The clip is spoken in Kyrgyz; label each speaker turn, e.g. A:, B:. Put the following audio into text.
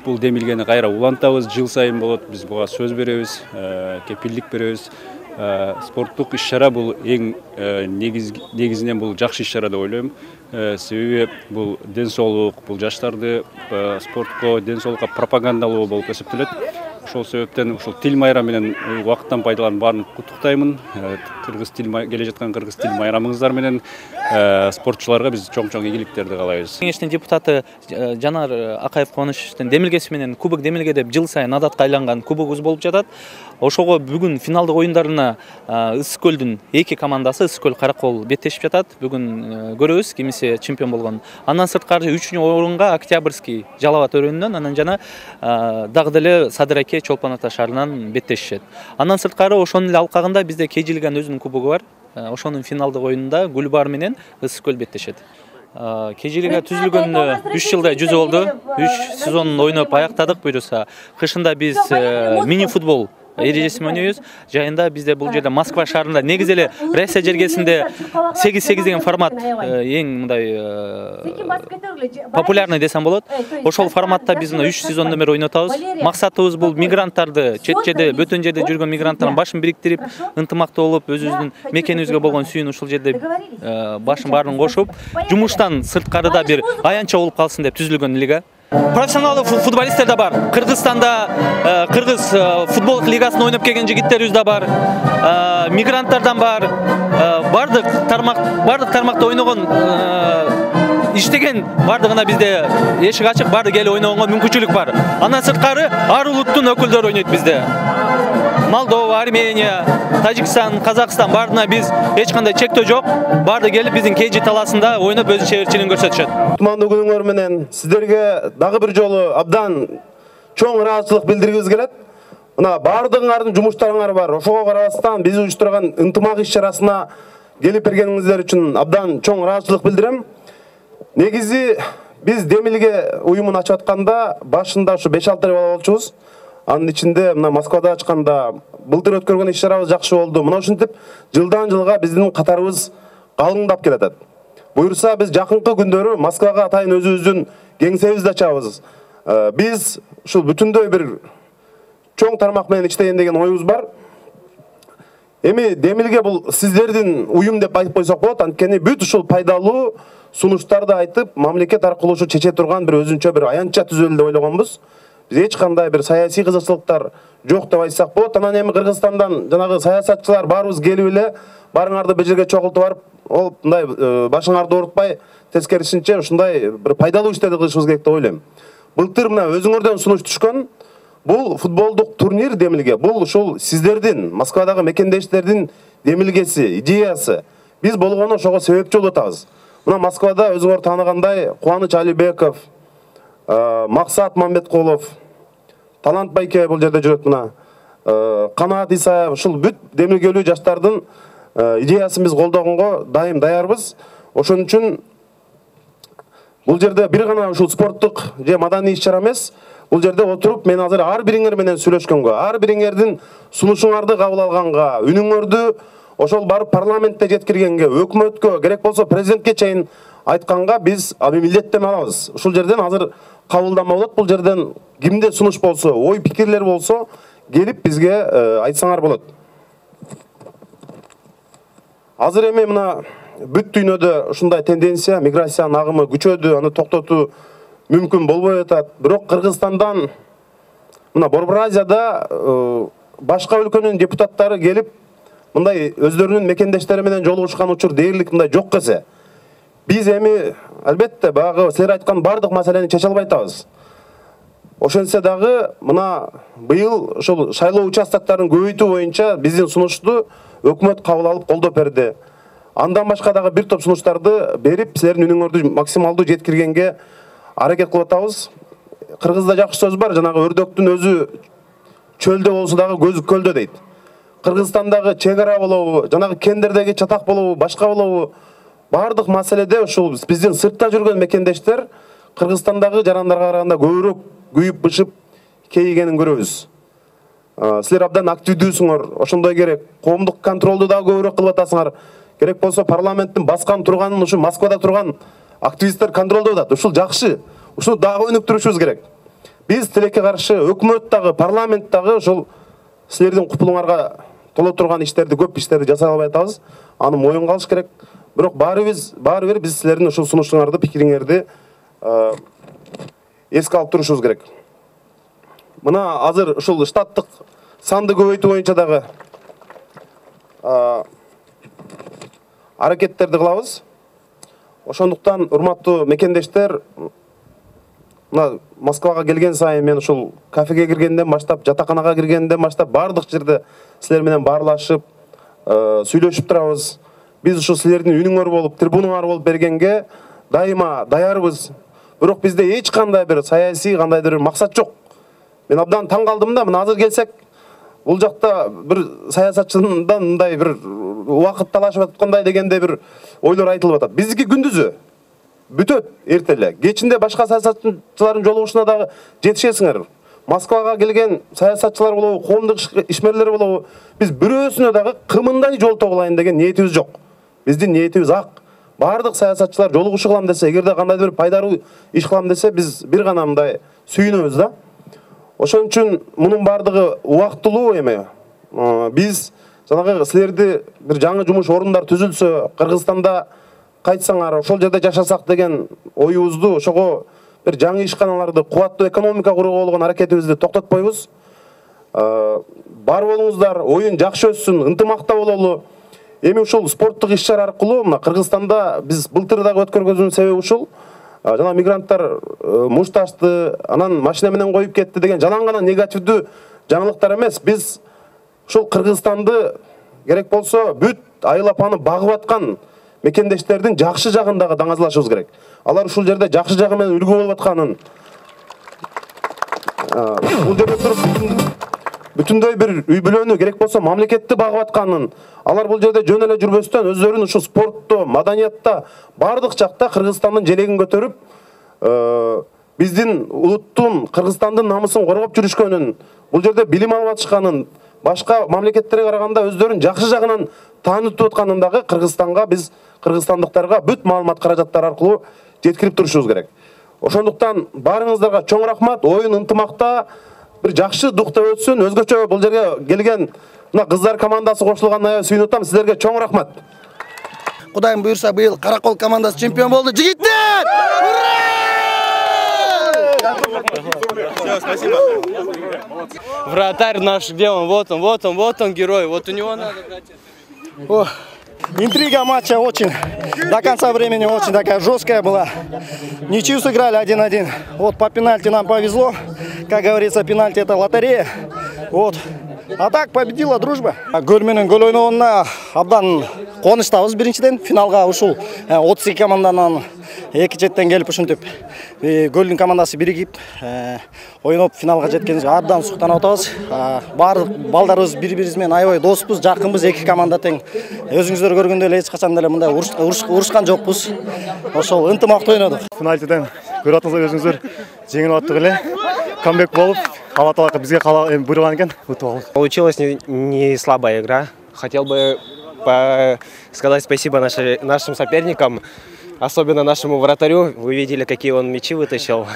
A: бул демилгени кайра улантабыз. Жыл сайын болот. Биз буга сөз беребиз, кепилдик беребиз. Спорттук иш-чара бул эң негизинен бул жакшы иш-чара деп ойлойм. Себеби бул ден соолук, бул жаштарды спортко, ден соолукка пропагандалоо болуп эсептелет. Ошол себептен ушул тил майрамы менен убакыттан пайдаланып баарын куттуктаймын. Кыргыз тил келе жаткан кыргыз тил майрамыңыздар менен спортчуларга биз чоң ийгиликтерди каалайбыз.
B: Кеңештин депутаты Жанар Акаев Кубаныштын демилгеси менен Кубок демилге деп жыл сайын адатка айланган кубогубуз болуп жатат. Ошого бүгүн финалдык оюндарына Ысык көлдүн эки командасы Ысык көл Каракол беттешип жатат. Бүгүн көрөбүз кимиси чемпион болгон. Андан сырткары 3-чү орунга Октябрьский Жалал Абад өрөөнүнөн, анан жана дагы деле Садыр Аке Чолпон Ата шаарынан беттешишет. Андан сырткары ошонун эле алкагында бизде KGLigанын өзүнүн кубогу бар. Ошонун финалдык оюнунда Гүлбар менен Ысык көл беттешет. KGLига түзүлгөнүнө 3 жылдай жүзү болду. 3 сезонун ойноп аяктадык буюрса. Кышында биз мини футбол эрежесин ойнойбуз. Жайында бизде бул жерде Москва шаарында негизи эле Россия жергесинде 8-8 деген формат эң мындай популярный десем болот. Ошол форматта биз 3 сезондон бери ойнотабыз. Максатыбыз бул мигранттарды, чет жерде, бөтөн жерде жүргөн мигранттардын башын бириктирип, ынтымактуу болуп, өзүбүздүн мекенибизге болгон сүйүүнү ушул жерде башын баарын кошуп, жумуштан сырткарыда бир аянтча болуп калсын деп түзүлгөн лига. Профессионалдуу футболисттер да бар. Кыргызстанда Кыргыз футбол лигасында ойноп келген жигиттерибиз да бар. Мигранттардан бар. Бардык тармакта ойногон иштеген бардыгына бизде эшик ачык, барды келип ойногонго мүмкүнчүлүк бар. Андан сырткары ар улуттун өкүлдөрү ойнойт бизде. Молдова, Армения, Тажикстан, Казакстан бардына биз эч кандай чектөө жок. Барды келип биздин KG талаасында ойноп өз чеберчилигин көрсөтүшөт.
C: Кутмандуу күнүңөр менен сиздерге дагы бир жолу абдан чоң ыраазычылык билдиргибиз келет. Мына бардыгыңардын жумуштарыңар бар. Ошого карабастан биз уюштурган ынтымак иш-чарасына келип бергениңиздер үчүн абдан чоң ыраазычылык билдирем. Негизи биз демилге уюмун ачып атканда башында ушу 5-6 бала болчубуз. Анын ичинде мына Москвада ачканда былтыр өткөргөн иш-чарабыз жакшы болду. Мына ушинтип жылдан жылга биздин катарыбыз калыңдап келатат. Буюрса биз жакынкы күндөрү Москвага атайын өзүбүздүн кеңсебизди ачабыз. Биз ушул бүтүндөй бир чоң тармак менен иштейин деген оюбуз бар. Эми демилге бул сиздердин уюм деп айтып койсок болот. Анткени бүт ушул пайдалуу сунуштарды айтып, мамлекет аркылуу ушу чече турган бир өзүнчө бир аянтча түзөлү деп ойлогонбуз. Биз эч кандай бир саясий кызыкчылыктар жок деп айтсак болот. Анан эми Кыргызстандан жанагы саясатчылар баарыбыз келип эле барыңарды бир жерге чогултуп барып, ол мындай башыңарды оорутпай, тескерисинче ушундай бир пайдалуу иштерди кылышыбыз керек деп ойлойм. Былтыр мына өзүңөрдөн сунуш түшкөн бул футболдук турнир демилге. Бул ушул сиздердин Москвадагы мекендештердин демилгеси, идеясы. Биз болгону ошого себепчи болуп атабыз. Мына Москвада өзүңөр тааныгандай Кубаныч Алибеков, Максат Мамбеткулов, Талант Байке бул жерде жүрөт мына. Канаат Исаев, ушул бүт демилгелүү жаштардын идеясын биз колдогонго дайым даярбыз. Ошон үчүн бул жерде бир гана ушул спорттук же маданий иш-чара эмес. Бул жерде отуруп мен азыр ар бириңер менен сүйлөшкөнгө, ар бириңердин сунушуңарды кабыл алганга, үнүңөрдү ошол барып парламентте жеткиргенге, өкмөткө, керек болсо президентке чейин айтканга биз милдеттенме алабыз. Ушул жерден азыр кабылданма болот. Бул жерден кимде сунуш болсо, ой пикирлер болсо, келип бизге айтсаңар болот. Азыр эми мына бүт дүйнөдө ушундай тенденция, миграциянын агымы күчөдү, аны токтотуу мүмкүн болбой атат. Бирок Кыргызстандан мына Борбор Азияда башка өлкөнүн депутаттары келип мындай өздөрүнүн мекендештери менен жолугушкан учур дээрлик мындай жок келсе, биз эми албетте баягы силер айткан бардык маселени чече албай атабыз. Ошентсе дагы мына быйыл ошол шайлоо участоктарын көбөйтүү боюнча биздин сунушту өкмөт кабыл алып колдоп берди. Андан башка дагы бир топ сунуштарды берип, силердин үнүңөрдү максималдуу жеткиргенге аракет кылып атабыз. Кыргызда жакшы сөз бар, жанагы өрдөктүн өзү чөлдө болсо дагы көзү көлдө дейт. Кыргызстандагы чек ара болобу, жанагы кендердеги чатак болобу, башка болобу, бардык маселеде ушул биздин сыртта жүргөн мекендештер Кыргызстандагы жарандарга караганда көбүрөөк күйүп-бышып кейигенин көрөбүз. Силер абдан активдүүсүңөр, ошондой керек. Коомдук контролду дагы көбүрөөк кылып атасыңар. Керек болсо парламенттин баскан турганын ушу Москвада турган активисттер контролдоп атат. Ушул жакшы. Ушуну дагы өнүктүрүшүбүз керек. Биз тилекке каршы өкмөт дагы, парламент дагы ошол силердин купулуңарга толо турган иштерди, көп иштерди жасай албай атабыз. Аны моюнга алыш керек. Бирок баары бир биз силердин ушул сунушуңарды, пикириңерди эске алып турушубуз керек. Мына азыр ушул штаттык санды көбөйтүү боюнча дагы аракеттерди кылабыз. Ошондуктан урматтуу мекендештер, мына Москвага келген сайын мен ушул кафеге киргенден баштап, жатаканага киргенден баштап бардык жерде силер менен баарлашып, сүйлөшүп турабыз. Биз ушул силердин үнүңөр болуп, трибунаңар болуп бергенге дайыма даярбыз. Бирок бизде эч кандай бир саясий кандайдыр бир максат жок. Мен абдан таң калдым да, мына азыр келсек, бул жакта бир саясатчыдан мындай бир убакыт талашып аткандай дегенде бир ойлор айтылып атат. Биздики күндүзү бүтөт эртеле. Кечинде башка саясатчылардын жолугушуна дагы жетишесиңер. Москвага келген саясатчылар болобу, коомдук ишмерлер болобу, биз бирөөсүнө дагы кымындай жол тогулайын деген ниетибиз жок. Биздин ниетибиз ак. Бардык саясатчылар жолугушу кылам десе, эгерде кандайдыр бир пайдалуу иш кылам десе, биз бир гана мындай сүйүнөбүз да. Ошон үчүн мунун бардыгы убактылуу эме. Биз жанагы силерди бир жаңы жумуш орундар түзүлсө, Кыргызстанда кайтсаңар, ошол жерде жашасак деген оюбузду, ошого бир жаңы ишканаларды, кубаттуу экономика курууга болгон аракетибизди токтотпойбуз. Бар болуңуздар, оюн жакшы өссүн, ынтымакта бололу. Эми ушул спорттук иш-чара аркылуу мына Кыргызстанда биз былтыр дагы өткөргөнүбүздүн себеби ушул. Жана мигранттар мушташты, анан машина менен коюп кетти деген жалаң гана негативдүү жаңылыктар эмес. Биз ушул Кыргызстанды керек болсо бүт айыл апаны багып аткан мекендештердин жакшы жагын дагы даңазалашыбыз керек. Алар ушул жерде жакшы жагы менен үлгү болуп атканын, бул жерде туруп бүтүндөй бир үй бүлөнү, керек болсо мамлекетти багып атканын, алар бул жерде жөн эле жүрбөстөн өздөрүн ушул спортто, маданиятта, бардык жакта Кыргызстандын желегин көтөрүп, биздин улуттун, Кыргызстандын намысын коргоп жүрүшкөнүн, бул жерде билим алып атышканын, башка мамлекеттерге караганда өздөрүн жакшы жагынан таанытып атканын дагы Кыргызстанга, биз кыргызстандыктарга бүт маалымат каражаттары аркылуу жеткирип турушубуз керек. Ошондуктан баарыңыздарга чоң рахмат. Оюн ынтымакта бир жакшы духта өтсүн. Өзгөчө бул жерге келген мына кыздар командасы кошулганына аябай сүйүнүп атам. Сиздерге чоң рахмат.
D: Кудайым буйрса, быйыл Каракол командасы чемпион болду. Жигиттер!
E: Все, спасибо. Вратарь наш, где он? Вот он, герой. Вот у него надо брать.
D: Интрига матча очень, до конца времени очень такая жесткая была. Ничью сыграли 1-1. Вот по пенальти нам повезло. Как говорится, пенальти это лотерея. Вот. А так победила дружба. Гөл менен гөл ойногонуна абдан кубанычтабыз. Биринчиден финалга ушул 32 команданын эки четтен келип ушинтип Гөлдүн командасы биригип ойноп финалга жеткенибизге абдан суктанып атабыз. Баардык балдарыбыз бири-бирибиз менен аябай доспуз, жакынбыз, эки команда тең. Өзүңүздөр көргөндөй эле эч качан деле мындай урушкан жокпуз. Ошол ынтымактуу ойнодук.
F: Пенальтиден көрүп атсаңыздар өзүңүздөр жеңип аттык эле. Камбек болуп, Алла Таала бизге буйруган экен, утуп алдык.
G: Получилась не слабая игра. Хотел бы сказать спасибо нашим соперникам, особенно нашему вратарю. Вы видели, какие он мячи вытащил.